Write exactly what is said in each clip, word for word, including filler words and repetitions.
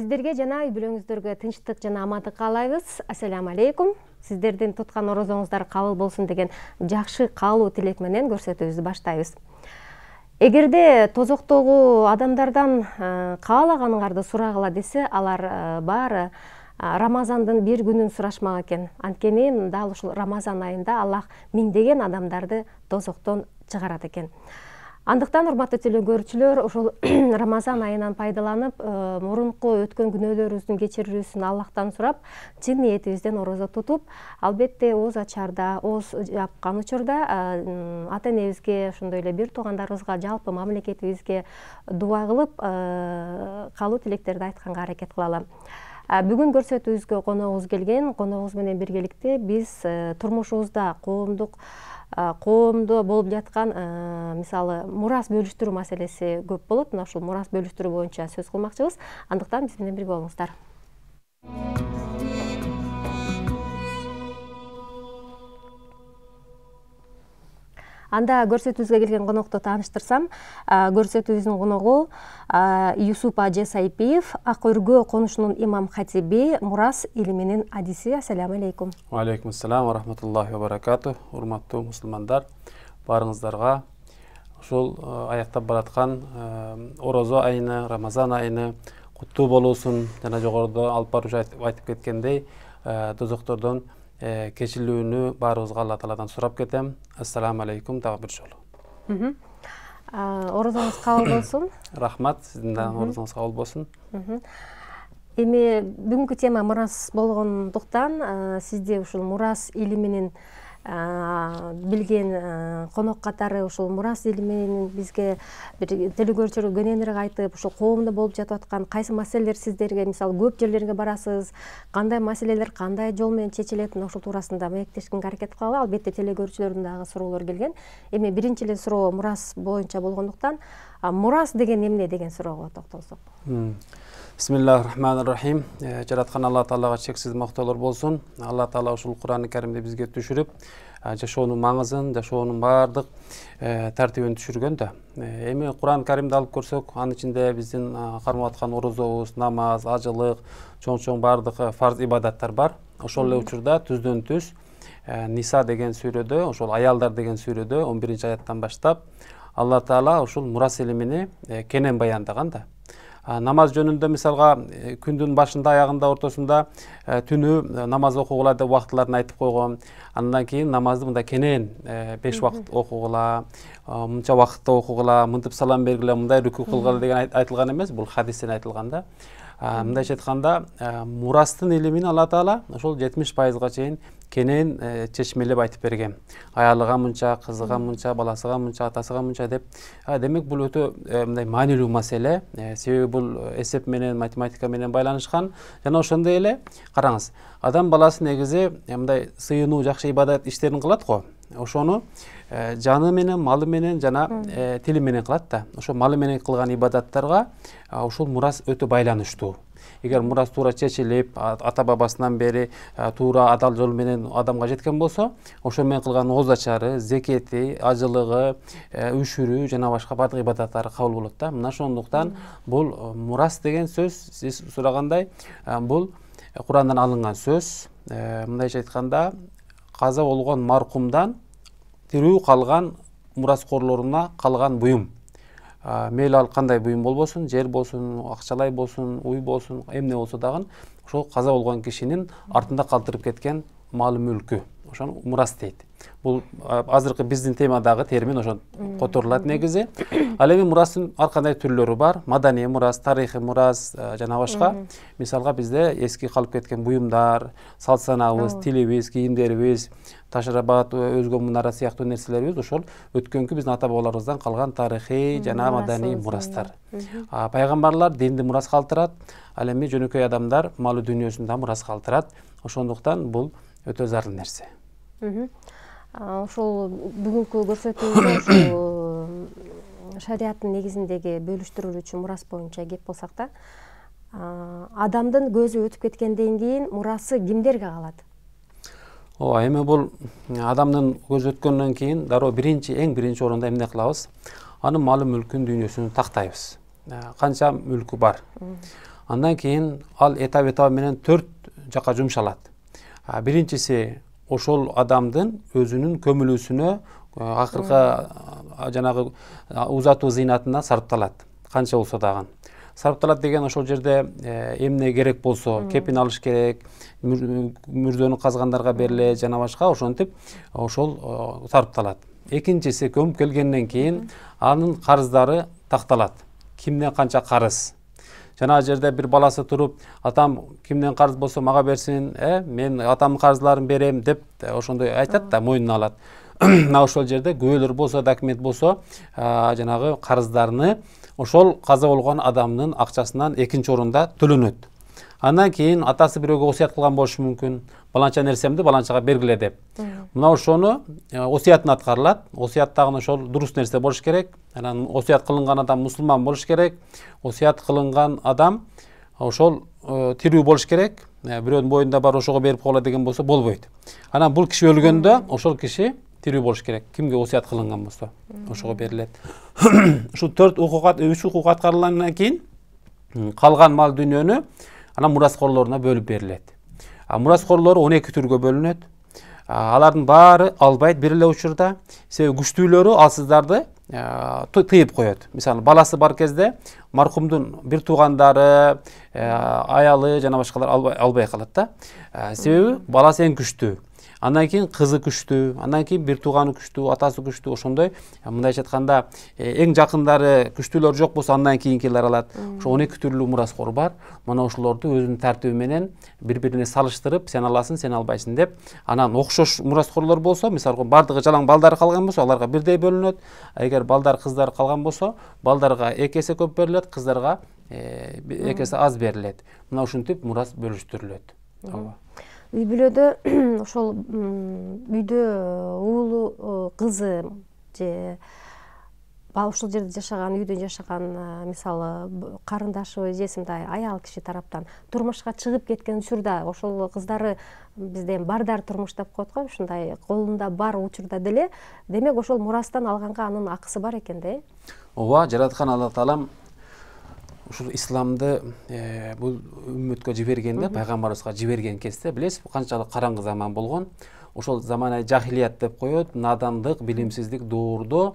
Сиздерге жана үй бүлөңүздөргө тынчтык жана амандык каалайбыз. Ассаламу алейкум. Сиздердин туткан орозоңуздар кабыл болсун деген жакшы каалоо тилек менен көрсөтүүбүздү баштайбыз. Эгерде тозоктогу адамдардан каалаганыңарды сурагыла десе, алар баары Рамазандын бир күнүн сурашмак экен. Анткени дал ушул Рамазан айында Аллах миңдеген адамдарды тозоктон чыгарат экен. Андыктан урматтуу телекөрүүчүлөр, ушул Рамазан айынан пайдаланып, мурунку өткөн күнөөлөрүбүздүн кечирүүсүн Аллахтан сурап, чын ниетибизден орозо тутуп, албетте ооз ачарда, ооз жапкан учурда ата энебизге, ошондой эле бир туугандарыбызга, жалпы мамлекетибизге дуа кылып, каалоо тилектерди айтканга аракет кылалы. Бүгүн көрсөтүүбүзгө коногубуз келген. Коногубуз менен биргеликте биз турмушубузда коомдук коомдо болуп жаткан мисалы мурас бөлүштүрүү маселеси көп болот. Мына ушул мурас бөлүштүрүү боюнча сөз кылмакчыбыз. Андыктан биз менен бирге болуңуздар. Анда көрсөтүүбүзгө келген конокту тааныштырсам, көрсөтүүбүздүн коногу Юсуп Ажы Сайпиев, Ак өргө конушунун имам хатиби, мурас илиминин адиси. Ассаламу алейкум. Ва алейкум ассалам ва рахматуллахи ва баракату. Урматтуу мусулмандар, баарыңыздарга ушул аяктап бараткан орозо айыны, Рамазан айыны куттуу болуусун, жана жогоруда алып баруучу айтып кеткендей, тозоктордон кечилүүнү баарыбызга Алла Тааладан сурап кетем. Ассаламу алейкум дагы бир жолу. Орозоңуз кабыл болсун. Рахмат, сиздин да орозоңуз кабыл болсун. Эми бүгүнкү тема мурас болгондуктан, сизди ушул мурас илиминин билген конок катары ушул мурас илиминин бизге бир телекөрүүчүлөргө кененирээк айтып, ушул коомдо болуп жатып аткан кайсы маселелер сиздерге, мисалы көп жерлерге барасыз, кандай маселелер кандай жол менен чечилет, ушул туурасында маектешкенге аракет кылалы. Албетте телекөрүүчүлөрдүн дагы суроолору келген. Эми биринчи эле суроо мурас боюнча болгондуктан, мурас деген эмне деген суроого токтолсок. Бисмиллахир рахманир рахим. Жараткан Алла Таалага чексиз мактоолор болсун. Алла Таала ушул Кур'ан-ы Каримди бизге түшүрүп, жашоонун маңызын, жашоонун баардык тартибин түшүргөн да. Эми Кур'ан-ы Каримди алып көрсөк, анын ичинде биздин кармап аткан орозобуз, намаз, ажылык, чоң-чоң баардык фарз ибадаттар бар. Ошол эле учурда түздөн түз Ниса деген сүрөдө, ошол аялдар деген сүрөдө он биринчи аяттан баштап Алла Таала ушул мурас илимини кенен баяндаган да. Намаз жөнүндө мисалга күндүн башында, аягында, ортосунда түнү намаз окугула деп убактыларын айтып койгон. Андан кийин намазды мындай кенен беш убакыт окугула, мынча убакытта окугула, мынтип салам бергиле, мындай рүкү кылгыла деген айтылган эмес, бул хадистен айтылган да. Мындайча айтканда, мурастын илимин Алла Таала ошол жетимиш пайызга чейин кенен чечмелеп айтып берген. Аялыга мынча, кызыга мынча, баласыга мынча, атасыга мынча деп. Демек бул өтө мындай маанилүү маселе. Себеби бул эсеп менен, математика менен байланышкан. Жана ошондой эле караңыз, адам баласы негизи мындай сыйынуу, жакшы ибадат иштерин кылат го. Ошону жаны менен, малы менен жана тили менен кылат да. Ошо малы менен кылган ибадаттарга ушул мурас өтө байланыштуу. Эгер мурас туура чечилип, ата бабасынан бери туура адал жол менен адамга жеткен болсо, ошо менен кылган ооз ачары, зекети, ажылыгы, үшүрүү жана башка бардык ибадаттары кабыл болот да. Мына ошондуктан бул мурас деген сөз, сиз сурагандай, бул Курандан алынган сөз. Мындайча айтканда, каза болгон маркумдан тирүү калган мураскорлоруна калган буюм. Мейли ал кандай буюм болбосун, жер болсун, акчалай болсун, уй болсун, эмне болсо дагы, ошол каза болгон кишинин артында калтырып кеткен малы мүлкү. Ошону мурас дейт. Бул азыркы биздин темадагы термин ошо которулат негизи. Ал эми мурастын ар кандай түрлөрү бар. Маданий мурас, тарыхый мурас жана башка. Мисалга бизде эски калып кеткен буюмдар, салт санабыз, тилибиз, кийимдерибиз, ташырабат, өзгө мунара сыяктуу нерселерибиз ошол өткөнкү биздин ата бабаларыбыздан калган тарыхый жана маданий мурастар. Пайгамбарлар динди мурас калтырат, ал эми жөнөкөй адамдар малы дүйнөсүндө мурас калтырат. Ошондуктан бул өтө зарыл нерсе. Ошол бүгүнкү көрсөтүүбүздө ошол шариаттын негизиндеги бөлүштүрүлүүчү мурас боюнча кеп болсак да, адамдын көзү өтүп кеткенден кийин мурасы кимдерге калат? Ооба, эми бул адамдын көзү өткөндөн кийин дароо биринчи, эң биринчи орунда эмне кылабыз? Анын малы мүлкүн, дүйнөсүн тактайбыз. Канча мүлкү бар. Андан кийин ал этап этабы менен төрт жакка жумшалат. Биринчиси ошол адамдын өзүнүн көмүлүүсүнө, акыркы жанагы узатуу зыйнатына сарпталат. Канча болсо дагы. Сарпталат деген ошол жерде эмне керек болсо, кепин алыш керек, мүрзөнү казгандарга берилет жана башка, ошентип ошол сарпталат. Экинчиси көмүп келгенден кийин анын карыздары такталат. Кимден канча карыз. Жана жерде бир баласы туруп, атам кимден карыз болсо мага берсин, э, мен атамдын карыздарын берем деп ошондой айтат да, мойнуна алат. Мына ошол жерде күбөлөр болсо, документ болсо, жанагы карыздарны ошол каза болгон адамдын акчасынан экинчи орунда төлөнөт. Андан кийин атасы бирөөгө осуят кылган болушу мүмкүн. Баланча нерсемди баланчага бергиле деп. Мына ошону осуятын аткарылат. Осуят дагы ошол дурус нерсе болуш керек. Анан осуят кылынган адам мусулман болуш керек. Осуят кылынган адам ошол тирүү болуш керек. Бирөөнүн боюнда бар ошого берип койгула деген болсо болбойт. Анан бул киши өлгөндө ошол киши тирүү болуш керек. Кимге осуят кылынган болсо ошого берилет. Ушул төрт укук, үч укук аткарылгандан кийин калган мал дүйнөнү анан мураскорлоруна бөлүп берилет. Мураскорлору он эки түргө бөлүнөт. Алардын баары албайт бир эле учурда. Себеби күчтүүлөрү алсыздарды тыйып коет. Мисалы, баласы бар кезде маркумдун бир туугандары, аялы жана башкалар албай калат да. Себеби баласы эң күчтүү. Андан кийин кызы күчтүү, андан кийин бир тууганы күчтүү, атасы күчтүү, ошондой. Мындайча айтканда, эң жакындары күчтүүлөр жок болсо, андан кийинкилер алат. Ошо он эки түрлүү мураскор бар. Мына ошолорду өзүнүн тартиби менен бири-бирине салыштырып, сен аласың, сен албайсың деп. Анан окшош мураскорлор болсо, мисалы, бардыгы жалаң балдары калган болсо, аларга бирдей бөлүнөт. Эгер балдар, кыздар калган болсо, балдарга эки эсе көп берилет, кыздарга эки эсе аз берилет. Мына ушинтип мурас бөлүштүрүлөт. Үй бүлөдө ошол үйдө уулу, кызы же ошол жерде жашаган, үйдө жашаган, мисалы, карындашыбы же мындай аял киши тараптан турмушка чыгып кеткен учурда ошол кыздары бизде бардар турмуш деп коет го, ушундай колунда бар учурда деле, демек ошол мурастан алганга анын акысы бар экен да. Ооба, жараткан Алла Таалам ушул исламды бул үммөткө жибергенде, пайгамбарыбызга жиберген кезде, билесиз, канчалык караңгы заман болгон. Ошол заманай жахилият деп коет, надандык, билимсиздик доордо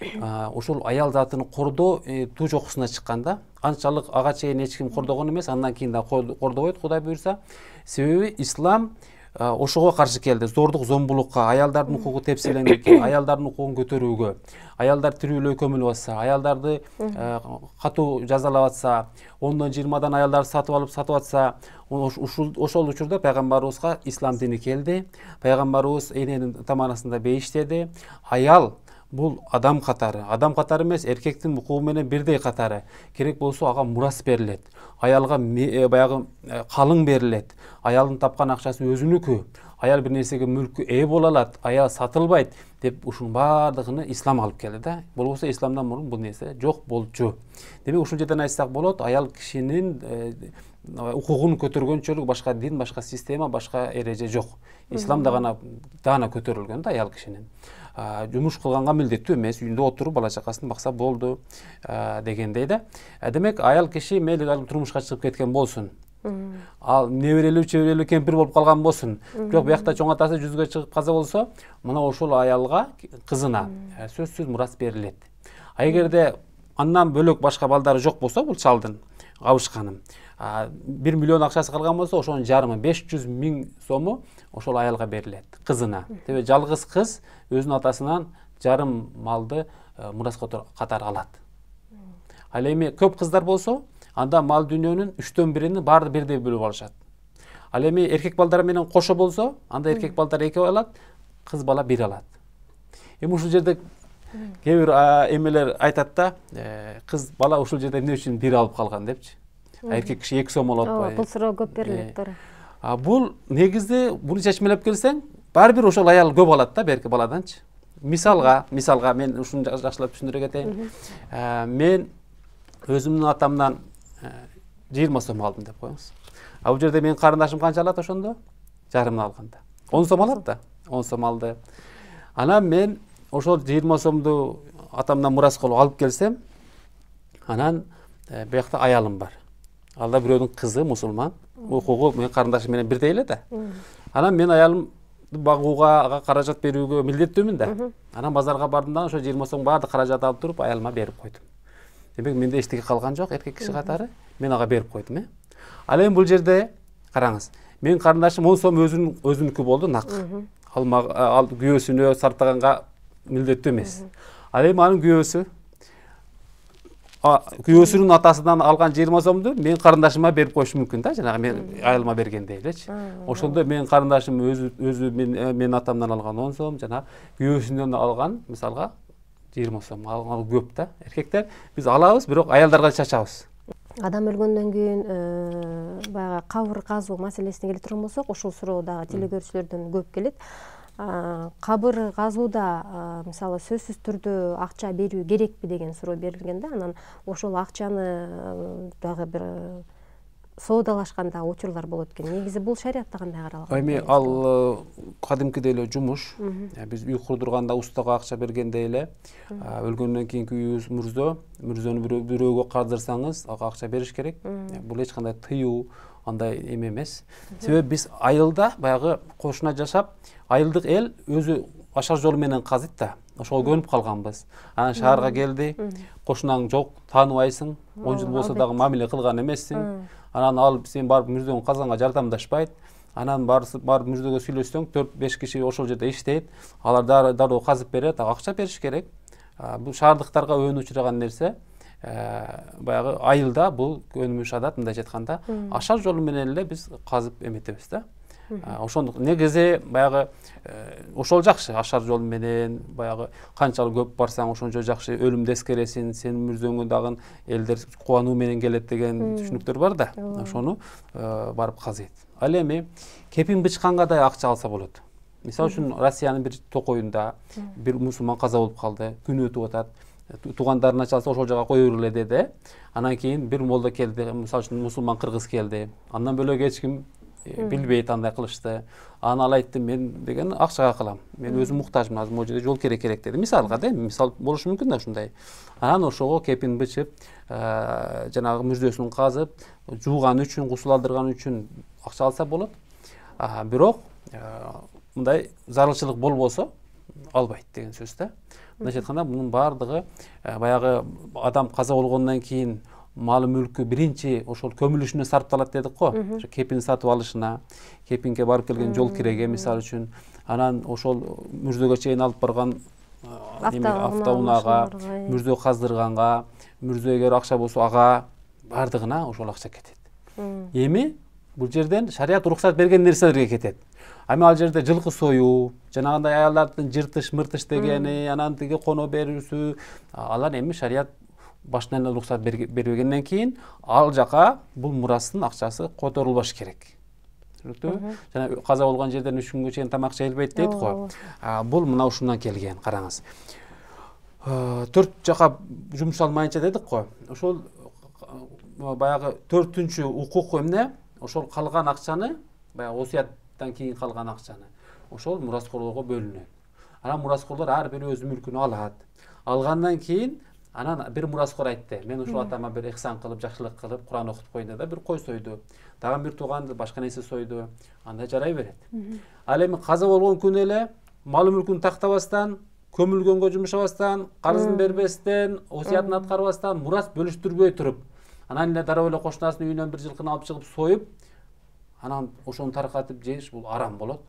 ошол аял затын кордоо туу жокусуна чыкканда, анчалык ага чейин эч ким кордогон эмес, андан кийин да кордобойт, Кудай буйрса. Себеби ислам ошого каршы келди. Зордук, зомбулукка, аялдардын укугу тепселендикке, аялдардын укугун көтөрүүгө, аялдар тирүүлөй көмүлүп атса, аялдарды катуу жазалап атса, ондон жыйырмадан аялдарды сатып алып сатып атса, ошол учурда пайгамбарыбызга ислам дини келди. Пайгамбарыбыз эненин таманасында бейиштеди. Аял бул адам катары, адам катары эмес, эркектин укугу менен бирдей катары. Керек болсо ага мурас берилет. Аялга баягы калың берилет. Аялдын тапкан акчасы өзүнүкү. Аял бир нерсеге мүлккө ээ боло алат, аял сатылбайт деп ушунун баардыгын ислам алып келди да. Болбосо исламдан мурун бул нерсе жок болчу. Демек ушул жерден айтсак болот, аял кишинин укугун көтөргөнчөлүк башка дин, башка система, башка эреже жок. Исламда гана даана көтөрүлгөн да аял кишинин. Жумуш кылганга милдеттүү эмес, үйүндө отуруп бала чакасын бакса болду дегендей да. Демек аял киши мейли турмушка чыгып кеткен болсун. Ал неберелүү, чеберелүү кемпир болуп калган болсун. Бирок биякта чоң атасы жүзгө чыгып каза болсо, мына ошол аялга, кызына сөзсүз мурас берилет. А эгерде андан бөлөк башка балдары жок болсо, бул чалдын кабышканын бир миллион акчасы калган болсо, ошонун жарымы беш жүз миң сому ошол аялга берилет, кызына. Себеби жалгыз кыз өзүнүн атасынан жарым малды мурас катары алат. Ал эми көп кыздар болсо, анда мал дүйнөнүн үчтөн бирини баары бирдей бөлүп алышат. Ал эми эркек балдар менен кошо болсо, анда эркек балдар эки алат, кыз бала бир алат. Эми ушул жерде кээ бир эмелер айтат да, кыз бала ушул жерде эмне үчүн бир алып калган депчи. Эркек киши эки сом алып атпайбы? Бул суроо көп берилет, туура. Бул негизде буну чечмелеп келсең, баары бир ошол аял көп алат да берки баладанчы. Мисалга, мисалга мен ушуну жакшылап түшүндүрө кетейин. Мен өзүмдүн атамдан жыйырма сом алдым деп коюңуз. А бул жерде менин карындашым канча алат ошондо? Жарымын алганда. он сом алат да, он сом алды. Анан мен ошол жыйырма сомду атамдан мурас кылып алып келсем, анан биякта аялым бар. ал да бирөөнүн кызы, мусулман, укугу менин карындашым менен бирдей эле да. Анан мен аялымды багууга, ага каражат берүүгө милдеттүүмүн да. Анан базарга бардым да, ошо жыйырма сом баардык каражат алып туруп аялыма берип койдум. Демек менде эчтеке калган жок, эркек киши катары. Мен ага берип койдум, э. Ал эми бул жерде караңыз. Менин карындашым он сом өзүнүн өзүнүкү болду, нак. Ал ал күйөөсүнө сарптаганга милдеттүү эмес. Ал эми анын күйөөсү күйөөсүнүн атасынан алган жыйырма сомду менин карындашыма берип коюшу мүмкүн да, жанагы мен айылыма бергендей элечи. Ошондо менин карындашым өзү өзү менин атамдан алган он сом, жана күйөөсүнөн алган мисалга жыйырма сом. Ал көп да. Эркектер биз алабыз, бирок аялдарга чачабыз. Адам өлгөндөн кийин баягы кабыр казуу маселесине келе турган болсок, ушул суроо дагы телекөрүүчүлөрдөн көп келет. Кабыр казууда мисалы сөзсүз түрдө акча берүү керекпи деген суроо берилген да. Анан ошол акчаны дагы бир соодалашкан дагы учурлар болот экен. Негизи бул шариятта кандай каралган? Эми ал кадимкидей эле жумуш. Биз үй курдурганда устага акча бергендей эле өлгөндөн кийинки үйүбүз мурзо, мурзону бирөөгө кардырсаңыз, ага акча бериш керек. Бул эч кандай тыюу, андай эме эмес. Себеби биз айылда баягы кошуна жашап, айылдык эл өзү ашар жолу менен казыйт да. Ошого көнүп калганбыз. Анан шаарга келди, кошунаң жок, тааныбайсың, он жыл болсо дагы мамиле кылган эмессиң. Анан ал сен барып мурзоң казганга жардамдашпайт. Анан барып мурзого сүйлөшсөң, төрт беш киши ошол жерде иштейт. Алар дароо казып берет, акча бериш керек. Бул шаардыктарга өөнү учураган нерсе. Баягы айылда бул өнүмүш адат, мындайча айтканда, ашар жолу менен эле биз казып эметебиз да. Ошондук негизи баягы ошол жакшы, ашар жол менен баягы канчалык көп барсаң ошончо жакшы, өлүмдү эскересиң, сенин мурзоңо дагы элдер кубануу менен келет деген түшүнүктөр бар да. Ошону барып казыйт. Ал эми кепин бычканга да акча алса болот. Мисалы үчүн Россиянын бир токоюнда бир мусулман каза болуп калды, күн өтүп атат. Туугандарына чалса ошол жака кое бергиле деди. Анан кийин бир молда келди, мисалы үчүн мусулман кыргыз келди. Андан бөлөк эч ким билбейт, андай кылышты. Анан ал айтты, мен деген акчага кылам. Мен өзүм муктажмын, азыр могу жерде жол керек керек деди. Мисалга да, мисал болушу мүмкүн да ушундай. Анан ошого кепин бычып, жанагы мурзөсүн казып, жууган үчүн, гусул алдырган үчүн акча алса болот. Бирок мындай зарылчылык болбосо албайт деген сөз да. Мындайча айтканда, мунун баардыгы баягы адам каза болгондон кийин малы мүлкү биринчи ошол көмүлүшүнө сарпталат дедик го. Ошо кепин сатып алышына, кепинге барып келген жол киреге мисалы үчүн, анан ошол мурзөөгө чейин алып барган автоунаага, мурзө каздырганга, мурзө эгер акча болсо ага баардыгына ошол акча кетет. Эми бул жерден шарият уруксат берген нерселерге кетет. Эми ал жерде жылкы союу, жанагындай аялдардын жыртыш-мыртыш дегени, анан тиги коно берүүсү, алар эми шарият башынан эле уруксат бербегенден кийин ал жака бул мурастын акчасы которулбаш керек. Түшүнүктүүбү? Жана каза болгон жерден үч күнгө чейин тамак жейилбейт дейт го. Бул мына ушундан келген, караңыз. Төрт жака жумшалмайынча дедик го. Ошол баягы төртүнчү укук эмне? Ошол калган акчаны, баягы осуяттан кийин калган акчаны, ошол мураскорлорго бөлүнөт. Анан мураскорлор ар бири өз мүлкүнө алат. Алгандан кийин анан бир мураскор айтты, мен ушул атама бир ихсан кылып, жакшылык кылып, Куран окутуп коюн да бир кой сойду. Дагы бир тууганды башка нерсе сойду. Андай жарай берет. Ал эми каза болгон күнү эле малы мүлкүн тактабастан, көмүлгөнгө жумшабастан, карызын бербестен, осуятын аткарбастан, мурас бөлүштүрбөй туруп, анан эле дароо эле кошунасынын үйүнөн бир жылкыны алып чыгып союп, анан ошону таркатып жеш, бул арам болот.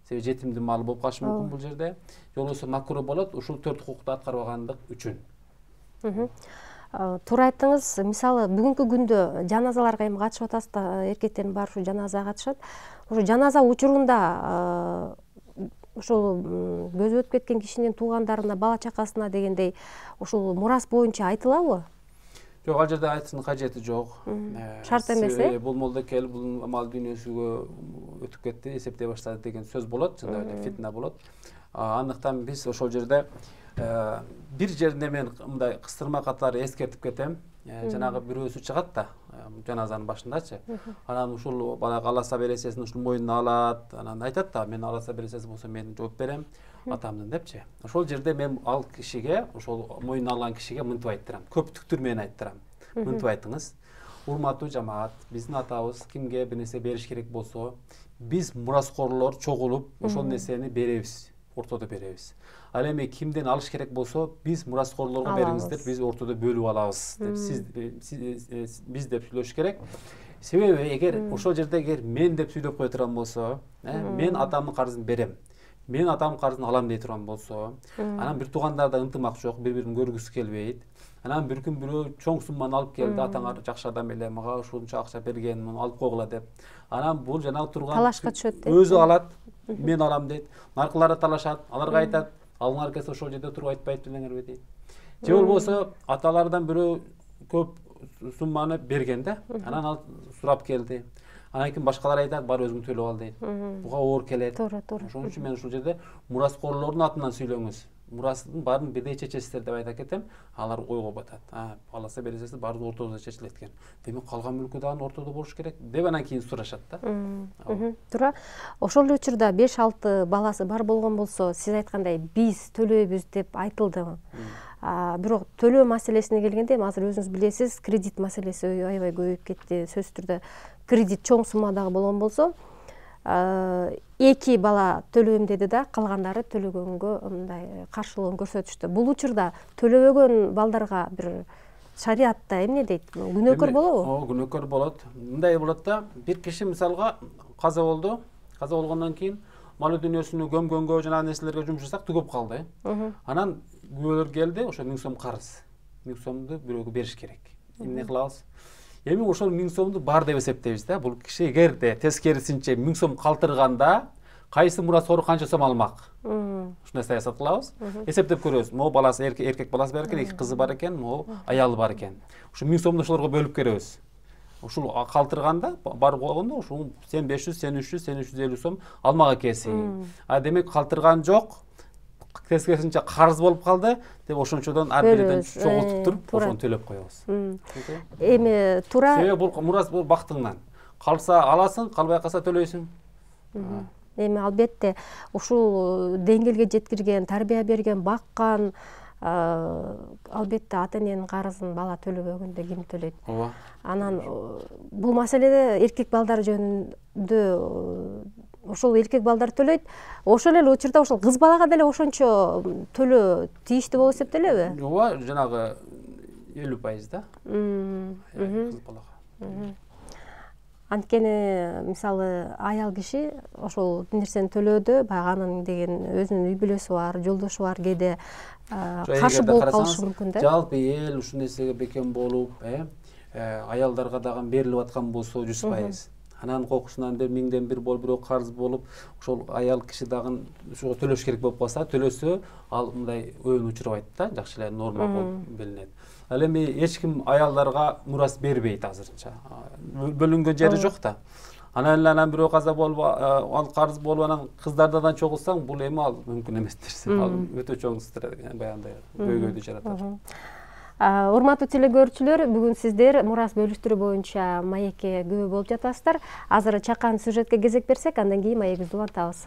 Себеби жетимдин малы болуп калышы мүмкүн бул жерде. Же болбосо макруh болот, ушул төрт укукту аткарбагандык үчүн. Туура айттыңыз. Мисалы бүгүнкү күндө жаназаларга эми катышып атасыз да, эркектердин баары ушу жаназага катышат. Ошо жаназа учурунда ошол көзү өтүп кеткен кишинин туугандарына, бала чакасына дегендей ушул мурас боюнча айтылабы? Жок, ал жерде айтыштын кажети жок. Шарт эмес, э? Бул молдокел бул мал дүйнөсүгө өтүп кетти, эсептей баштады деген сөз болот, чындап эле фитна болот. Андыктан биз ошол жерде бир жеринде мен мындай кыстырма катары эскертип кетем. Жанагы бирөөсү чыгат да, жаназанын башындачы. Анан ушул баягы аласа бересесин ушул мойнуна алат, анан айтат да, мен аласа бересеси болсо мен жооп берем атамдын депчи. Ошол жерде мен ал кишиге, ошол мойнуна алган кишиге мынтип айттырам. Көптүктүр менен айттырам. Мынтип айтыңыз. урматтуу жамаат, биздин атабыз кимге бир нерсе бериш керек болсо, биз мураскорлор чогулуп ошол нерсени беребиз, ортодо беребиз. Ал эми кимден алыш керек болсо, биз мураскорлорго бериңиздер, биз ортодо бөлүп алабыз деп сиз биз деп сүйлөш керек. Себеби эгер ошол жерде эгер мен деп сүйлөп кое турган болсо, мен атамдын карызын берем, мен атамдын карызын алам дей турган болсо, анан бир туугандарда ынтымак жок, бири-бирин көргүсү келбейт. Анан бир күн бирөө чоң сумманы алып келди, атаңар жакшы адам эле, мага ушунча акча берген, муну алып койгула деп. Анан бул жанагы турган талашка түшөт. Өзү алат, мен алам дейт. Наркылары талашат, аларга айтат, алыңар келсе ошол жерде туруп айтпайт белеңерби дейт. Же болбосо аталардан бирөө көп сумманы берген да, анан ал сурап келди. Анан кийин башкалар айтат, бар өзүң төлөп ал дейт. Буга оор келет. Туура, туура. Ошон үчүн мен ушул жерде мураскорлордун атынан сүйлөңүз. Мурастын баарын бирдей чечесиздер деп айта кетем. Алар ойго батат. А, аласа бересиздер, баары ортодо чечилет экен. Демек калган мүлкү дагы ортодо болуш керек деп анан кийин сурашат да. Туура. Ошол эле учурда беш алты баласы бар болгон болсо, сиз айткандай биз төлөйбүз деп айтылды. Бирок төлөө маселесине келгенде, азыр өзүңүз билесиз, кредит маселеси аябай көбөйүп кетти. Сөзсүз түрдө кредит чоң суммадагы болгон болсо, эки бала төлөйм деди да, калгандары төлөгөнгө мындай каршылыгын көрсөтүштү. Бул учурда төлөбөгөн балдарга бир шариатта эмне дейт? Күнөөкөр болобу? Ооба, күнөөкөр болот. Мындай болот да, бир киши мисалга каза болду. Каза болгондон кийин малы дүйнөсүнү көмгөнгө, жана нерселерге жумшасак түгөп калды. Анан күбөлөр келди, ошо миң сом карыз. миң сомду бирөөгө бериш керек. Эмне кылабыз? Эми ошол миң сомду бар деп эсептейбиз да. Бул киши эгерде тескерисинче миң сом калтырганда, кайсы мураскор канча сом алмак? Ушундай саясат кылабыз. Эсептеп көрөбүз. Могу баласы эркек баласы бар экен, эки кызы бар экен, могу аялы бар экен. Ушу миң сомду ошолорго бөлүп беребиз. Ушул калтырганда бар болгондо ушул сен беш жүз, сен үч жүз, сен үч жүз элүү сом алмак экенсиң. А демек калтырган жок, тескерисинче карыз болуп калды деп ошончодон ар бириден чогултуп туруп, ошону төлөп коебуз. Эми туура. Себеби бул мурас бул бактыңдан. Калса аласың, калбай калса төлөйсүң. Эми албетте ушул деңгээлге жеткирген, тарбия берген, баккан, албетте ата эненин карызын бала төлөбөгөндө ким төлөйт? Ооба. Анан бул маселеде эркек балдар жөнүндө ошол эркек балдар төлөйт. Ошол эле учурда ошол кыз балага деле ошончо төлөө тийиштүү болуп эсептелеби? Ооба, жанагы элүү пайыз да. Кыз балага. Анткени мисалы аял киши ошол нерсени төлөөдө, баягы анын деген өзүнүн үй бүлөсү бар, жолдошу бар, кээде каршы болуп калышы мүмкүн да. Жалпы эл ушул нерсеге бекем болуп, аялдарга дагы берилип аткан болсо жүз пайыз. Анан кокусунан бир миңден бир болуп, бирөө карыз болуп, ошол аял киши дагы ушуга төлөш керек болуп калса, төлөсө, ал мындай өйүн учурбайт да, жакшы эле норма болуп билинет. Ал эми эч ким аялдарга мурас бербейт азырынча. Бөлүнгөн жери жок да. Анан эле анан бирөө каза болуп, ал карыз болуп, анан кыздардан чогулсаң, бул эми ал мүмкүн эмес нерсе. Ал өтө чоң баягындай көйгөйдү жаратат. Урматтуу телекөрүүчүлөр, бүгүн сиздер мурас бөлүштүрүү боюнча маекке күбө болуп жатасыздар. Азыр чакан сюжетке кезек берсек, андан кийин маегибизди улантабыз.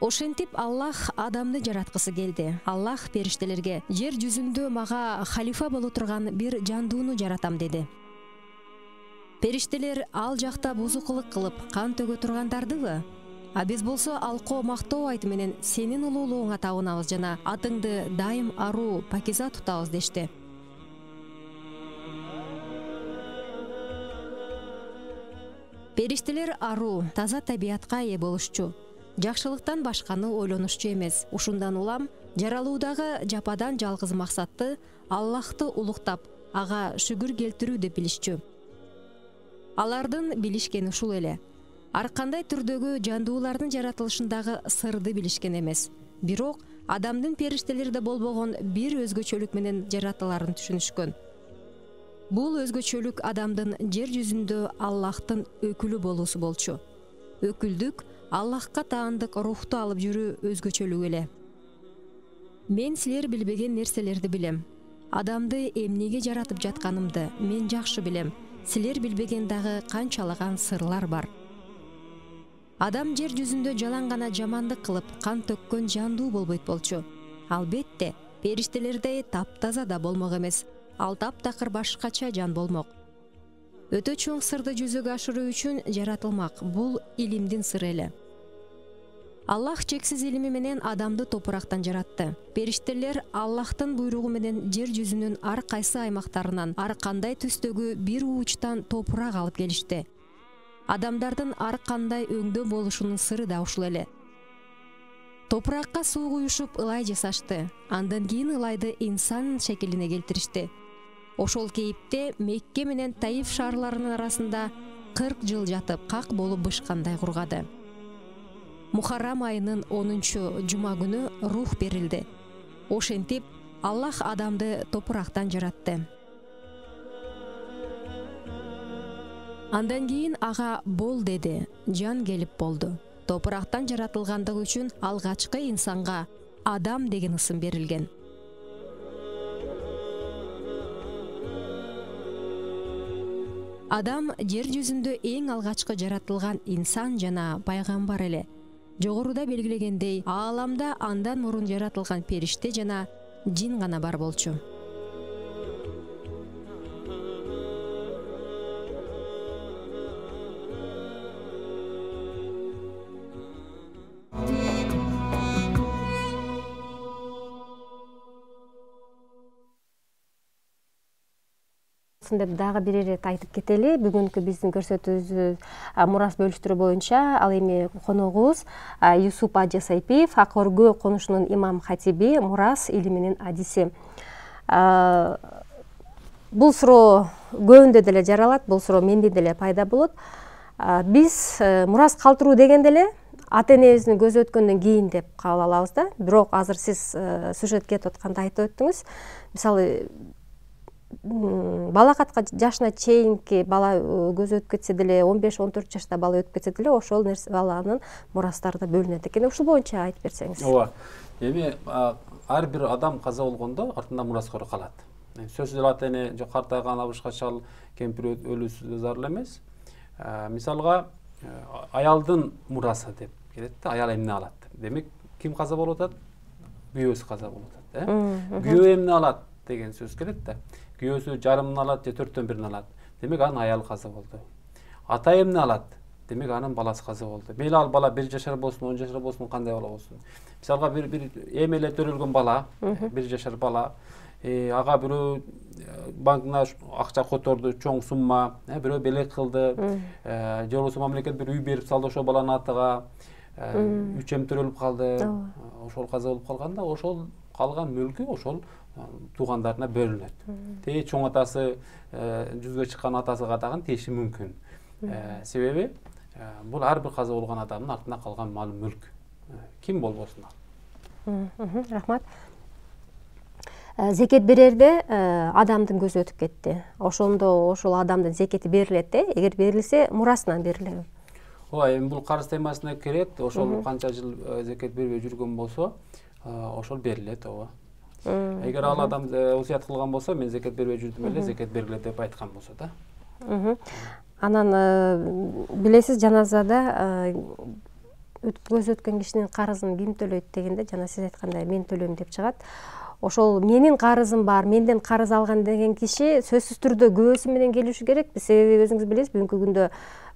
Ошентип Аллах адамды жараткысы келди. Аллах периштелерге жер жүзүндө мага халифа боло турган бир жандууну жаратам деди. Периштелер ал жакта бузукулук кылып, кан төгө тургандардыбы? А биз болсо алкоо мактоо айты менен сенин улуулугуңа табынабыз жана атыңды дайым аруу, пакиза тутабыз дешти. Периштелер аруу, таза табиятка ээ болушчу. Жакшылыктан башканы ойлонушчу эмес. Ушундан улам жаралуудагы жападан жалгыз максатты Аллахты улуктап, ага шүгүр келтирүү деп билишчү. Алардын билишкени ушул эле. Ар кандай түрдөгү жандуулардын жаратылышындагы сырды билишкен эмес. Бирок адамдын периштелерде болбогон бир өзгөчөлүк менен жаратыларын түшүнүшкөн. Бул өзгөчөлүк адамдын жер жүзүндө Аллахтын өкүлү болуусу болчу. Өкүлдүк Аллахка таандык рухту алып жүрүү өзгөчөлүк эле. Мен силер билбеген нерселерди билем. Адамды эмнеге жаратып жатканымды мен жакшы билем. Силер билбеген дагы канчалаган сырлар бар. адам жер жүзүндө жалаң гана жамандык кылып кан төккөн жандуу болбойт болчу. Албетте, периштелердей таптаза да болмок эмес. Ал таптакыр башкача жан болмок. Өтө чоң сырды жүзөгө ашыруу үчүн жаратылмак. Бул илимдин сыры эле. Аллах чексиз илими менен адамды топурактан жаратты. Периштелер Аллахтын буйругу менен жер жүзүнүн ар кайсы аймактарынан ар кандай түстөгү бир уучтан топурак алып келишти. Адамдардын ар кандай өңдө болушунун сыры да ушул эле. Топуракка суу куюшуп ылай жасашты. Андан кийин ылайды инсан шекилине келтиришти. Ошол кейипте Мекке менен Таиф шаарларынын арасында кырк жыл жатып, как болуп бышкандай кургады. Мухаррам айынын онунчу жума күнү рух берилди. Ошентип Аллах адамды топурактан жаратты. Андан кийин ага бол деди, жан келип болду. Топурактан жаратылгандыгы үчүн алгачкы инсанга Адам деген ысым берилген. Адам жер жүзүндө эң алгачкы жаратылган инсан жана пайгамбар эле. Жогоруда белгилегендей, ааламда андан мурун жаратылган периште жана жин гана бар болчу. Деп дагы бир ирет айтып кетели. Бүгүнкү биздин көрсөтүүбүз мурас бөлүштүрүү боюнча ал эми коногубуз Юсуп Ажы Сайпиев, Ак өргө конушунун имам хатиби, мурас илиминин адиси. Бул суроо көбүндө деле жаралат, бул суроо менде деле пайда болот. Биз мурас калтыруу дегенде эле ата энебиздин көзү өткөндөн кийин деп кабыл алабыз да. Бирок азыр сиз сюжетке кетип атканда айтып өттүңүз. Мисалы балакатка жашына чейинки бала көзү өтүп кетсе деле, он беш он төрт жашта бала өтүп кетсе деле, ошол нерсе баланын мурастарына бөлүнөт экен. Ушул боюнча айтып берсеңиз. Ооба. Эми ар бир адам каза болгондо артында мураскор калат. Сөзсүз эле ата эне же картайган абышка чал кемпир өлүүсү зарыл эмес. Мисалга аялдын мурасы деп келет да, аял эмне алат? Демек, ким каза болуп атат? Күйөөсү каза болуп атат, э? Күйөө эмне алат деген сөз келет да. Күйөөсү жарымын алат же төрттөн бирин алат. Демек анын аял каза болду. Ата эмне алат? Демек анын баласы каза болду. Мейли ал бала бир жашар болсун, он жашар болсун, кандай бала болсун. Мисалга бир бир эми эле төрөлгөн бала, бир жашар бала, ага бирөө банкына акча которду, чоң сумма, бирөө белек кылды, же болбосо мамлекет бир үй берип салды ошол баланын атыга, үч эм төрөлүп калды. Ошол каза болуп калганда, ошол калган мүлкү ошол туугандарына бөлүнөт. Тээ чоң атасы жүзгө чыккан атасыга дагы тиеши мүмкүн. Себеби бул ар бир каза болгон адамдын артында калган мал мүлк. Ким болбосун ал. Рахмат. Зекет берерде адамдын көзү өтүп кетти. Ошондо ошол адамдын зекети берилет, э? Эгер берилсе, мурасынан берилеби? Ооба, эми бул карыз темасына кирет. Ошол канча жыл зекет бербей жүргөн болсо, ошол берилет, ооба. Эгер ал адам осуят кылган болсо, мен зекет бербей жүрдүм эле, зекет бергиле деп айткан болсо да. Анан билесиз, жаназада көзү өткөн кишинин карызын ким төлөйт дегенде, жана сиз айткандай мен төлөйм деп чыгат. Ошол менин карызым бар, менден карыз алган деген киши сөзсүз түрдө күбөсү менен келиши керек. Себеби өзүңүз билесиз, бүгүнкү күндө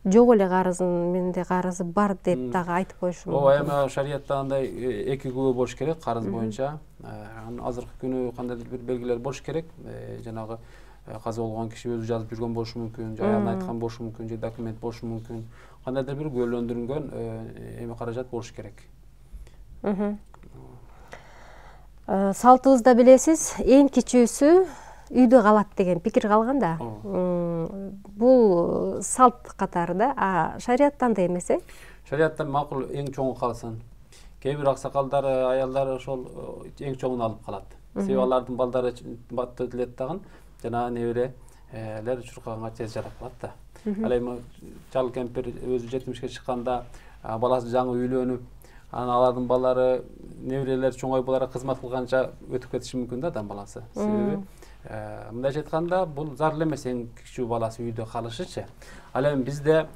жок эле карызым, менде карызы бар деп дагы айтып коюшу мүмкүн. Ооба, эми шариятта андай эки күбө болуш керек карыз боюнча. Азыркы күнү кандайдыр бир белгилер болуш керек. Жанагы каза болгон киши өзү жазып жүргөн болушу мүмкүн, же аялына айткан болушу мүмкүн, же документ болушу мүмкүн. Кандайдыр бир күбөлөндүрүлгөн эми каражат болуш керек. Салтыбызда билесиз, эң кичүүсү үйдө калат деген пикир калган да. Бул салт катары да, а шариятта андай эмес, э? Шариятта макул эң чоңу калсын. Кээ бир аксакалдар, аялдар ошол эң чоңун алып калат. Себеби алардын балдары бат өтүлөт дагы, жана неберелер чуркаганга тез жарап калат да. Ал эми чал кемпир өзү жетимишке чыкканда, баласы жаңы үйлөнүп, анан алардын балдары, неберелер чоңойуп буларга кызмат кылганча өтүп кетиши мүмкүн да адам баласы. Себеби мындайча айтканда, бул зарыл эмес эң кичүү баласы үйдө калышычы. Ал эми бизде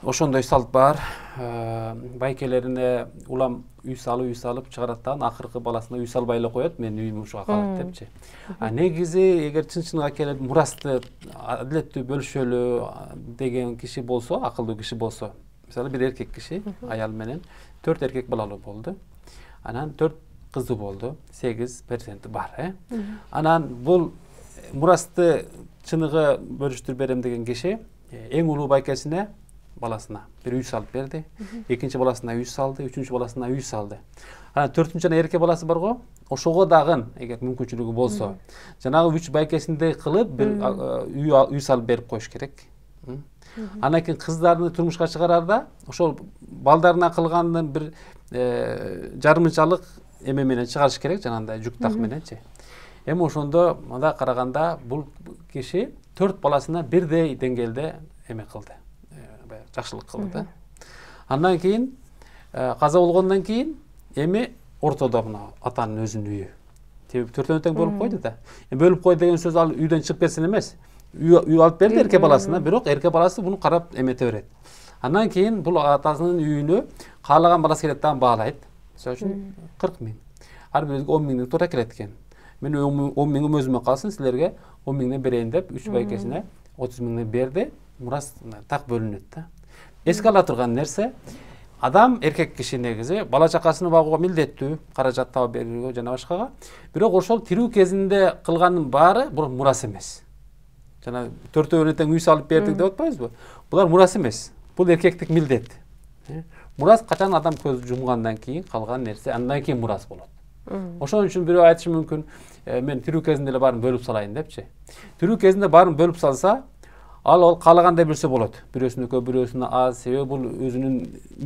ошондой салт бар. Байкелерине улам үй салып, үй салып чыгарат да, акыркы баласына үй салбай эле коет, менин үйүм ушуга калат депчи. А негизи эгер чын-чыныгы келип мурасты адилеттүү бөлүшөлү деген киши болсо, акылдуу киши болсо, мисалы бир эркек киши аял менен төрт эркек балалуу болду. Анан төрт кызы болду, сегиз перзенти бар, э. Анан бул мурасты чыныгы бөлүштүрүп берем деген киши эң улуу байкесине баласына бир үй салып берди. Экинчи баласына үй салды, үчүнчү баласына үй салды. Анан төртүнчү жана эрке баласы бар го, ошого дагы эгер мүмкүнчүлүгү болсо, жанагы үч байкесиндей кылып бир үй үй салып берип коюш керек. Андан кийин кыздарды турмушка чыгарарда ошол балдарына кылгандын бир жарымынчалык эме менен чыгарыш керек, жанагындай жүк так мененчи. Эми ошондо мында караганда бул киши төрт баласына бирдей деңгээлде эме кылды, жакшылык кылды да. Андан кийин каза болгондон кийин эми ортодо мына атанын өзүнүн үйү. Төртөө тең бөлүп койду да. Бөлүп кой деген сөз ал үйдөн чыгып кетсин эмес. Үй алып берди эрке баласына, бирок эрке баласы буну карап эмете берет. Андан кийин бул атасынын үйүнө каалаган баласы келет дагы баалайт. Мисалы үчүн кырк миң. Ар бирибизге он миңден туура келет экен. Мен он миңим өзүмө калсын, силерге он миңден берейин деп үч байкесине отуз миңден берди. Мурас так бөлүнөт да. Эске ала турган нерсе, адам эркек киши негизи бала чакасына багууга милдеттүү, каражат таап берүүгө жана башкага. Бирок ошол тирүү кезинде кылганын баары бул мурас эмес. Жана төртөөнө тең үй салып бердик деп атпайбызбы? Булар мурас эмес. Бул эркектик милдет. Мурас качан адам көз жумгандан кийин калган нерсе, андан кийин мурас болот. Ошон үчүн бирөө айтышы мүмкүн, мен тирүү кезинде эле баарын бөлүп салайын депчи. Тирүү кезинде баарын бөлүп салса, ал ал каалагандай берсе болот. Бирөөсүнө көп, бирөөсүнө аз, себеби бул өзүнүн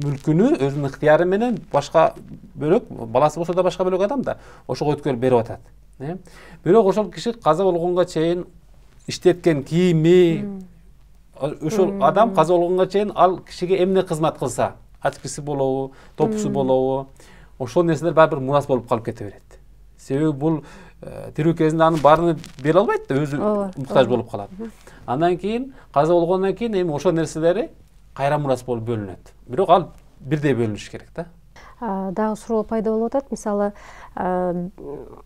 мүлкүнү, өзүнүн ыктыяры менен башка бөлөк, баласы болсо да башка бөлөк адам да ошого өткөрүп берип атат. Бирок ошол киши каза болгонго чейин иштеткен кийими, ошол адам каза болгонго чейин ал кишиге эмне кызмат кылса, ачкысы болобу, топусу болобу, ошол нерселер баары бир мурас болуп калып кете берет. Себеби бул тирүү кезинде анын баарын бере албайт да, өзү муктаж болуп калат. Андан кийин каза болгондон кийин эми ошол нерселери кайра мурас болуп бөлүнөт. Бирок ал бирдей бөлүнүш керек да. Дагы суроо пайда болуп атат. Мисалы,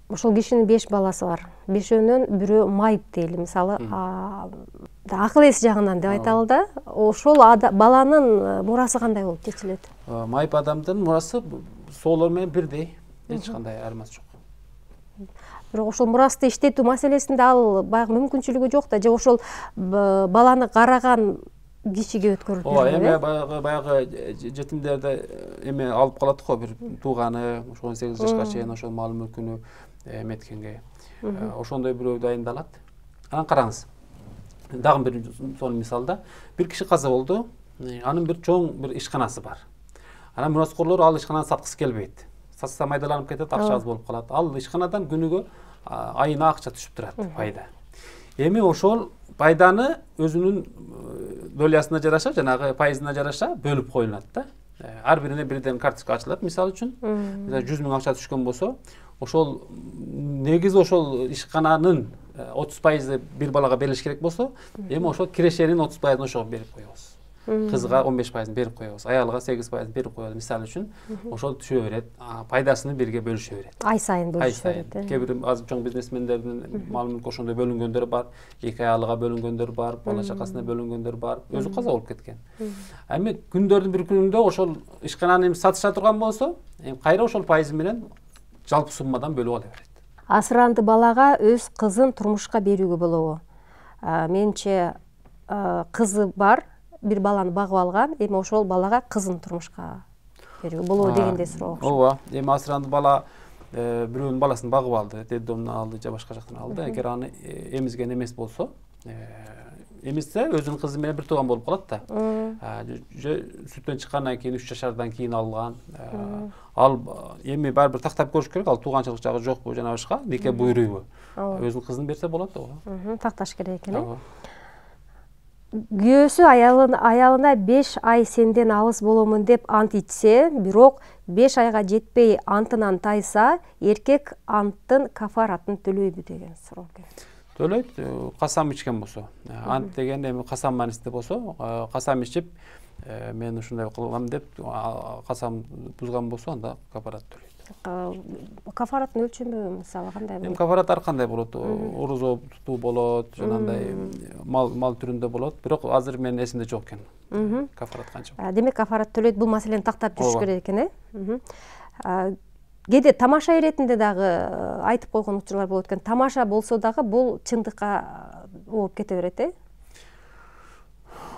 ошол кишинин беш баласы бар. Бешөөнөн бирөө майып дейли. Мисалы, акыл эси жагынан деп айталы да. Ошол баланын мурасы кандай болуп чечилет? Майып адамдын мурасы соолор менен бирдей. Эч кандай айырмасы жок. Бирок ошол мурасты иштетүү маселесинде ал баягы мүмкүнчүлүгү жок да, же ошол баланы караган кишиге өткөрүлүп берилет. Ооба, эме баягы баягы жетимдерде эме алып калат го, бир тууганы, ошо он сегиз жашка чейин ошол мал мүлкүнү эметкенге. Ошондой бирөө дайындалат. Анан караңыз. Дагы бир сонун мисалда, бир киши каза болду. Анын бир чоң бир ишканасы бар. Анан мураскорлор ал ишкананы саткысы келбейт. Сатса майдаланып кетет, акча аз болуп калат. Ал ишканадан күнүгө айына акча түшүп турат, пайда. Эми ошол пайданы өзүнүн долясына жараша, жанагы пайызына жараша бөлүп коюлат да. Ар бирине бирден карточка ачылат, мисалы үчүн. Мисалы жүз миң акча түшкөн болсо, ошол негизи ошол ишкананын отуз пайызы бир балага берилиш керек болсо, эми ошол кирешенин отуз пайызын ошого берип коебуз. Кызга он беш пайызын берип коебуз, аялга сегиз пайызын берип коебуз, мисалы үчүн. Ошол түшө берет, пайдасын бирге бөлүшө берет. Ай сайын бөлүшө берет. Кээ бир аз чоң бизнесмендердин мал мүлкү ошондой бөлүнгөндөр бар, эки аялга бөлүнгөндөр бар, бала чакасына бөлүнгөндөр бар, өзү каза болуп кеткен. Эми күндөрдүн бир күнүндө ошол ишкананы сатыша турган болсо, эми кайра ошол пайызы менен жалпы суммадан бөлүп ала берет. Асыранды балага өз кызын турмушка берүүгө болобу? Менимче кызы бар, бир баланы багып алган, эми ошол балага кызын турмушка берүүгө болобу дегенде суроо. Ооба, эми асыранды бала бирөөнүн баласын багып алды, детдомдон алды же башка жактан алды. Эгер аны эмизген эмес болсо, эмизсе өзүнүн кызы менен бир тууган болуп калат да. Же сүттөн чыккандан кийин үч жашардан кийин алган. Ал эми баары бир тактап көрүш керек, ал тууганчылык жагы жокпу жана башка, нике буйруйбу. Өзүнүн кызын берсе болот ооба. Такташ керек экен, э? Күйөөсү аялына беш ай сенден алыс боломун деп ант ичсе, бирок беш айга жетпей антынан тайса, эркек анттын кафаратын төлөйбү деген суроо. Төлөйт, касам ичкен болсо. Ант деген эми касам маанисинде болсо, касам ичип, мен ушундай кылгам деп касам бузган болсо, анда кафарат төлөйт. Кафараттын өлчөмү мисалы кандай болот? Эми кафарат ар кандай болот. Орозо тутуу болот, жанагындай мал мал түрүндө болот. Бирок азыр менин эсимде жок экен. Кафарат канча? Демек кафарат төлөйт, бул маселени тактап жүрүш керек экен, э? Кээде тамаша иретинде дагы айтып койгон учурлар болот экен. Тамаша болсо дагы бул чындыкка ооп кете берет, э?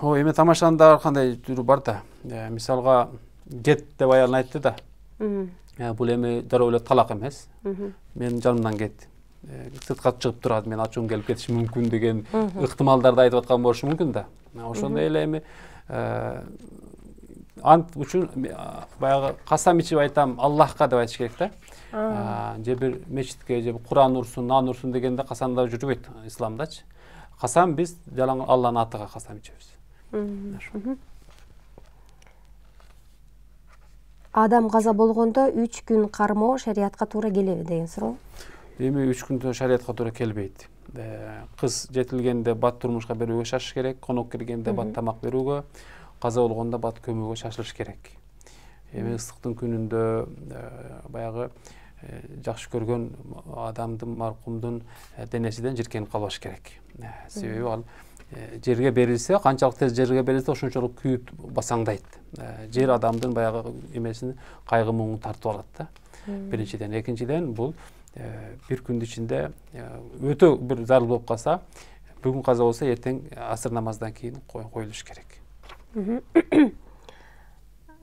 Ой, эми тамашанын да ар кандай түрү бар да. Мисалга жет деп аялын айтты да. Бул эми дароо эле талак эмес. Менин жанымдан кетти. Сыртка чыгып турат, мен ачуум келип кетиши мүмкүн деген ыктымалдарды айтып аткан болушу мүмкүн да. Ошондой эле эми ант үчүн баягы касам ичип айтам Аллахка деп айтыш керек да. Же бир мечитке, же Куран урсун, нан урсун дегенде касамда жүрбөйт исламдачы. Касам биз жалаң Алланын атыга касам ичебиз. Адам каза болгондо үч күн кармоо шариятка туура келеби деген суроо. Эми үч күн шариятка туура келбейт. Кыз жетилгенде бат турмушка берүүгө шашыш керек, конок киргенде бат тамак берүүгө, каза болгондо бат көмүүгө шашылыш керек. Эми ысыктын күнүндө баягы жакшы көргөн адамдын, маркумдун денесинен жиркенип калбаш керек. Себеби ал жерге берилсе, канчалык тез жерге берилсе, ошончолук күйүп басаңдайт. Жер адамдын баягы эмесин, кайгы муңун тартып алат да. Биринчиден, экинчиден бул бир күндүн ичинде өтө бир зарыл болуп калса, бүгүн каза болсо, эртең асыр намаздан кийин коюлуш керек.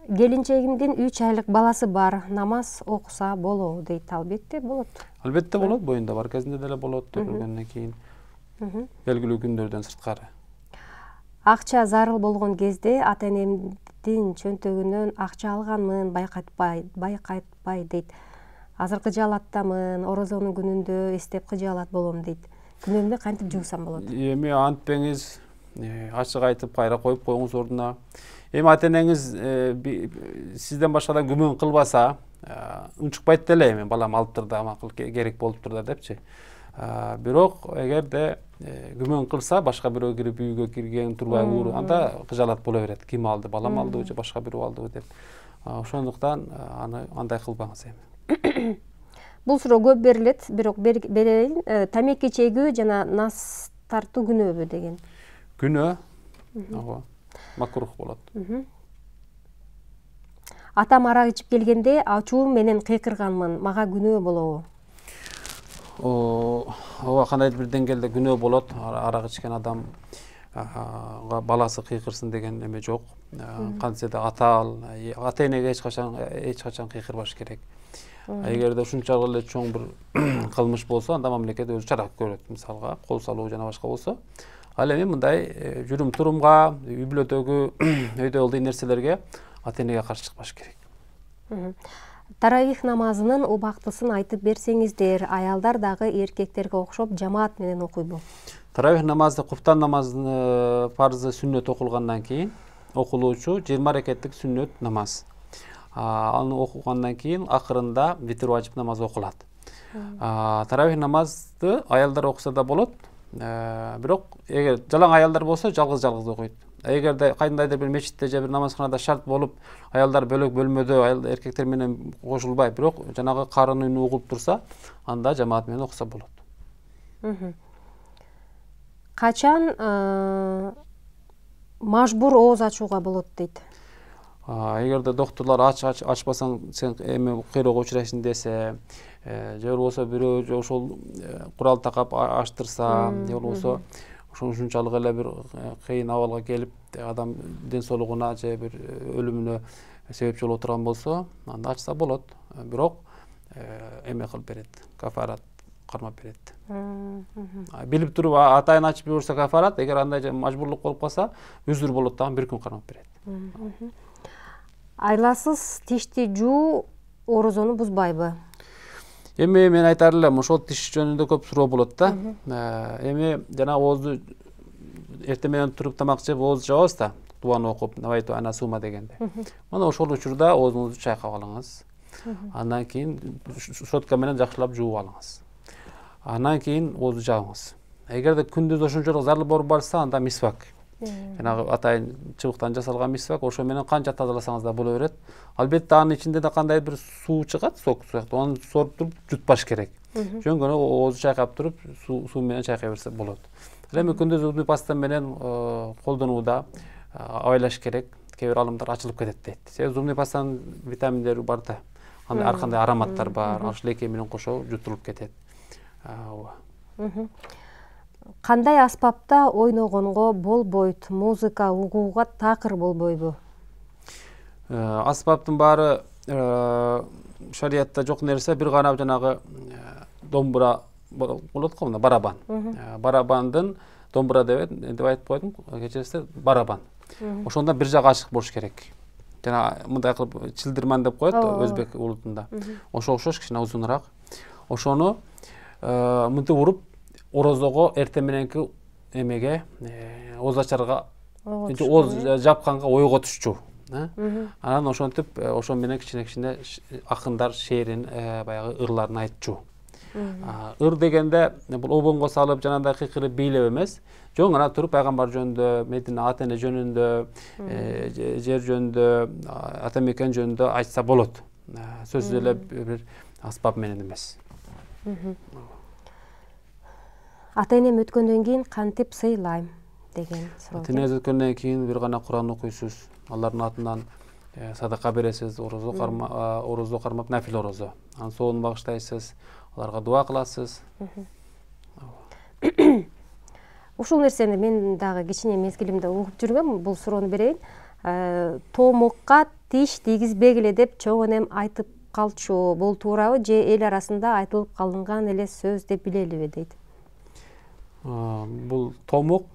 Келинчегимдин үч айлык баласы бар, намаз окуса болобу дейт. Албетте болот. Албетте болот, боюнда бар кезинде деле болот, төрөлгөндөн кийин. Белгилүү күндөрдөн сырткары. Акча зарыл болгон кезде ата-энемдин чөнтөгүнөн акча алганмын, байкатпай, байкатпай дейт. Азыр кыжаалаттамын, орозонун күнүндө эстеп кыжаалат болом дейт. Күнөмдү кантип жуусам болот? Эми антпеңиз, ачык айтып кайра коюп коюңуз ордуна. Эми ата-энеңиз сизден башкадан күмөн кылбаса, унчукпайт деле, эми балам алыптыр да, макул керек болуптур да депчи. Бирок эгерде күмөн кылса, башка бирөө кирип үйгө кирген, турбай ууру, анда кыжаалат боло берет. Ким алды, балам алдыбы же башка бирөө алдыбы деп. Ошондуктан аны андай кылбаңыз эми. Бул суроо көп берилет, бирок берейин. Тамеки чегүү жана нас тартуу күнөөбү деген. Күнөө. Ооба. Макрух болот. Атам арак ичип келгенде ачуум менен кыйкырганмын, мага күнөө болобу? Ооба, кандайдыр бир деңгээлде күнөө болот. Арак ичкен адамга баласы кыйкырсын деген эме жок. Кантсе да атал, ата-энеге эч качан эч качан кыйкырбаш керек. Эгерде ушунчалык эле чоң бир кылмыш болсо, анда мамлекет өзү чара көрөт. Мисалга, кол салуу жана башка болсо. Ал эми мындай жүрүм турумга, үй бүлөдөгү өйдө ылдый нерселерге ата-энеге каршы чыкпаш керек. Таравих намазынын убактысын айтып берсеңиздер, аялдар дагы эркектерге окшоп жамаат менен окуйбу? Таравих намазды, куптан намазынын фарзы сүннөт окулгандан кийин окулуучу жыйырма рекеттик сүннөт намаз. Аны окугандан кийин акырында витр важип намаз окулат. Таравих намазды аялдар окуса да болот. Бирок эгер жалаң аялдар болсо, жалгыз-жалгыз окуйт. Эгерде кайдандайдыр бир мечитте же бир намазканада шарт болуп, аялдар бөлөк бөлмөдө эркектер менен кошулбай, бирок жанагы карын үнү угулуп турса, анда жамаат менен окуса болот. Качан мажбур ооз ачууга болот дейт? Эгерде докторлор ач ачпасаң сен эме кыйроого учурайсың десе, же болбосо бирөө ошол курал такап ачтырса, же болбосо ушунчалык эле бир кыйын абалга келип, адам ден соолугуна же бир өлүмүнө себепчи боло турган болсо, анда ачса болот. Бирок эме кылып берет, кафарат кармап берет. Билип туруп атайын ачып жиберсе кафарат, эгер андай мажбурлук болуп калса, үзүр болот дагы бир күн кармап берет. Айласыз тишти жуу орозону бузбайбы? Эми мен айтар элем, ошол тиш жөнүндө көп суроо болот да. Эми жана оозду эртең менен туруп тамак жеп ооз жабабыз да, дуаны окуп, навайту ана сума дегенде. Мына ошол учурда оозуңузду чайкап алыңыз. Андан кийин щетка менен жакшылап жууп алыңыз. Андан кийин оозду жабыңыз. эгерде күндүз ошончолук зарыл болуп барса, анда мисвак. Жанагы атайын чыбыктан жасалган мисвак, ошо менен канча тазаласаңыз да боло берет. Албетте анын ичинде да кандай бир суу чыгат, сок сыяктуу. Аны соруп туруп жутпаш керек. Жөн гана оозу чайкап туруп, суу менен чайкай берсе болот. Эми күндүз зубный паста менен колдонууда абайлаш керек. Кээ бир алымдар ачылып кетет дейт. Себеби зубный пастанын витаминдери бар да. Анда ар кандай ароматтар бар, ал леке менен кошо жутулуп кетет. Кандай аспапта ойногонго болбойт? Музыка угууга такыр болбойбу? Аспаптын баары шариятта жок нерсе, бир гана жанагы домбура болот го, мына барабан. Барабандын домбура деп деп айтып койдум, кечиресиз, барабан. Ошондо бир жагы ачык болуш керек. Жана мындай кылып чилдирман деп коет өзбек улутунда. Ошо окшош кичине узунураак. Ошону мынтип уруп орозого эртең мененки эмеге оз ачарга оз жапканга ойготушчу. Анан ошентип ошон менен кичине-кичине акындар шээрин, баягы ырларын айтчу. Ыр дегенде бул обонго салып жанагындай кыйкырып бийлеп эмес, жөн гана туруп пайгамбар жөнүндө, Медина ата эне жөнүндө, жер жөнүндө, ата мекен жөнүндө айтса болот. Сөзсүз эле бир аспап менен эмес. Ата энем өткөндөн кийин кантип сыйлайм деген суроо. Ата энеңиз өткөндөн кийин бир гана Куран окуйсуз, алардын атынан садака бересиз, орозо кармап, орозо кармап нафил орозо. Анын соонун багыштайсыз, аларга дуа кыласыз. Ушул нерсени мен дагы кичине мезгилимде угуп жүргөм, бул суроону берейин. Томукка тиш тийгизбегиле деп чоң энем айтып калчу. Бул туурабы же эл арасында айтылып калынган эле сөз деп билелиби дейт. Бул томук,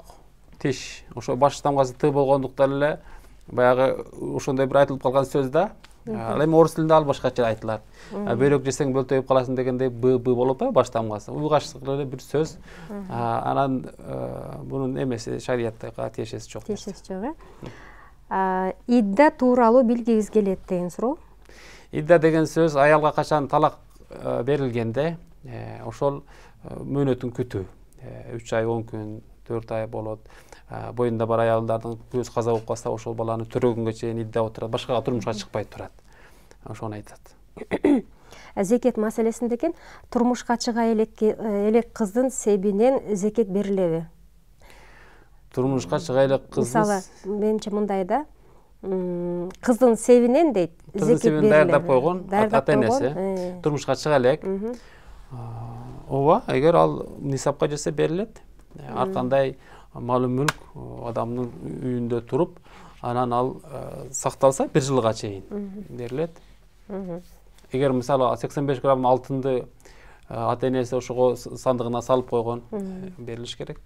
тиш, ошо баш тамгасы т болгондуктан эле баягы ошондой бир айтылып калган сөз да. Ал эми орус тилинде ал башкача айтылат. Бөйрөк жесең бөлтөйүп каласың дегендей б б болуп атпайбы баш тамгасы. Уйгаштык эле бир сөз. Анан бунун эмеси шариятка тиешеси жок. Тиешеси жок, э? Идда тууралуу билгибиз келет деген суроо. Идда деген сөз аялга качан талак берилгенде, ошол мөөнөтүн күтүү. үч ай, он күн, төрт ай болот. Боюнда бар аялдардын көз каза болуп калса, ошол баланы төрөгөнгө чейин идда отурат, башкага турмушка чыкпай турат. Ошону айтат. Зекет маселесинде экен, турмушка чыга элек кыздын себинен зекет берилеби? Турмушка чыга элек кыздын, мисалы, менче мындай да, кыздын себинен дейт, зекет берилеби. Даярдап койгон ата энеси, турмушка чыга элек. Ооба, эгер ал нисапка жетсе берилет. Ар кандай мал мүлк адамдын үйүндө туруп, анан ал сакталса бир жылга чейин берилет. Эгер мисалы сексен беш грамм алтынды ата энеси ошого сандыгына салып койгон, берилиш керек.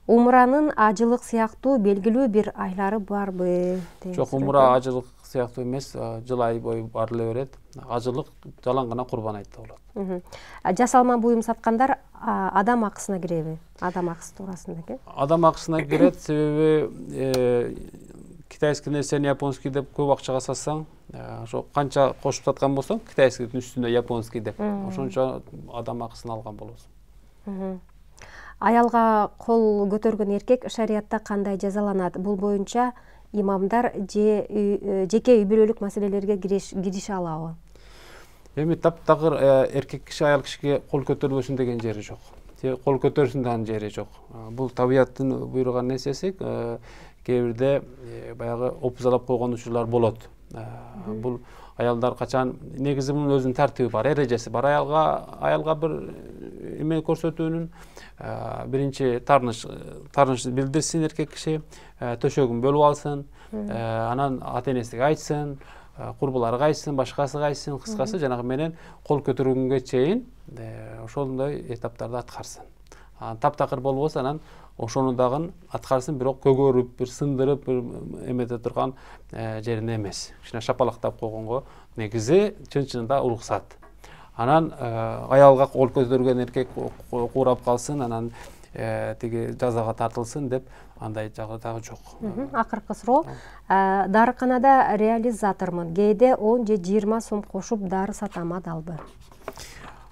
Умранын ажылык сыяктуу белгилүү бир айлары барбы? Жок, умра ажылык сыяктуу эмес, жыл ай бою барыла берет. Ажылык жалаң гана курбан айтта болот. Жасалма буюм саткандар адам акысына киреби? Адам акысы туурасында экен. Адам акысына кирет, себеби китайский нерсени японский деп көп акчага сатсаң, ошо канча кошуп саткан болсоң, китайскийдин үстүнө японский деп, ошончо адам акысын алган болосуң. Аялга кол көтөргөн эркек шариятта кандай жазаланат? Бул боюнча имамдар же жеке үй бүлөлүк маселелерге кирише алабы? Эми таптакыр эркек киши аял кишиге кол көтөрбөсүн деген жери жок. Кол көтөрсүн деген жери жок. Бул табияттын буйруган нерсеси. Кээ бирде баягы опузалап койгон учурлар болот. Бул аялдар качан негизи мунун өзүнүн тартиби бар, эрежеси бар. Аялга аялга бир эме көрсөтүүнүн биринчи таарыныч таарыныч билдирсин эркек киши, төшөгүн бөлүп алсын, анан ата энесиге айтсын, курбулары кайсын, башкасы кайсын, кыскасы жанагы менен кол көтөргөнгө чейин ошондой этаптарды аткарсын. Таптакыр болбосо анан ошону дагы аткарсын, бирок көгөрүп, бир сындырып, бир эмете турган жерине эмес. Кичине шапалактап койгонго негизи чын-чынында уруксат. Анан аялга кол көтөргөн эркек куурап калсын, анан тиги жазага тартылсын деп андай жагы дагы жок. Акыркы суроо. Дарыканада реализатормун. Кээде он же жыйырма сом кошуп дары сатам, адалбы?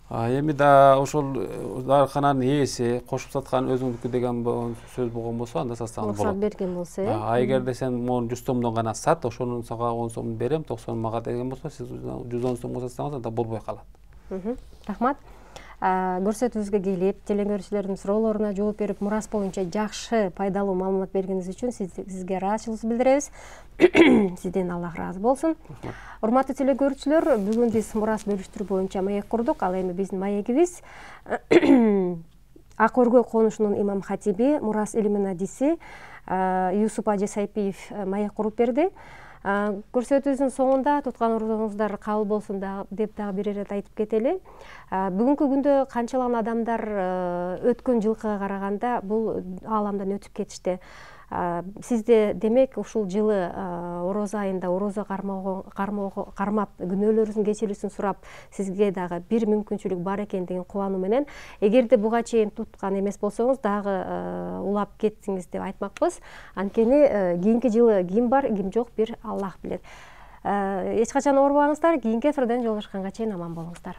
Эми да ошол дарыкананын ээси кошуп саткан өзүңдүкү деген сөз болгон болсо анда сатсаң болот. Уруксат берген болсо, э? А эгерде сен могу жүз сомдон гана сат, ошонун сага он сомун берем, токсон мага деген болсо, сиз жүз он сомго сатсаңыз анда болбой калат. Рахмат. Көрсөтүүбүзгө келип, телекөрүүчүлөрдүн суроолоруна жооп берип, мурас боюнча жакшы, пайдалуу маалымат бергениңиз үчүн сизге ыраазычылык билдиребиз. Сизден Аллах ыраазы болсун. Урматтуу телекөрүүчүлөр, бүгүн биз мурас бөлүштүрүү боюнча маек курдук. Ал эми биздин маегибиз Ак өргөй конушунун имам хатиби, мурас илимин адиси Юсуп Ажы Сайпиев маек куруп берди. Көрсөтүүбүздүн соңунда туткан орозоңуздар кабыл болсун деп дагы бир ирет айтып кетели. Бүгүнкү күндө канчалаган адамдар өткөн жылкыга караганда бул ааламдан өтүп кетишти. Сизде демек ушул жылы орозо айында орозо кармап күнөөлөрүңүздүн кечирүүсүн сурап, сизге дагы бир мүмкүнчүлүк бар экендигин кубануу менен, эгерде буга чейин туткан эмес болсоңуз, дагы улап кеттиңиз деп айтмакпыз. Анткени кийинки жылы ким бар, ким жок, бир Аллах билет. Эч качан оорубаңыздар, кийинки эфирден жолугушканга чейин аман болуңуздар.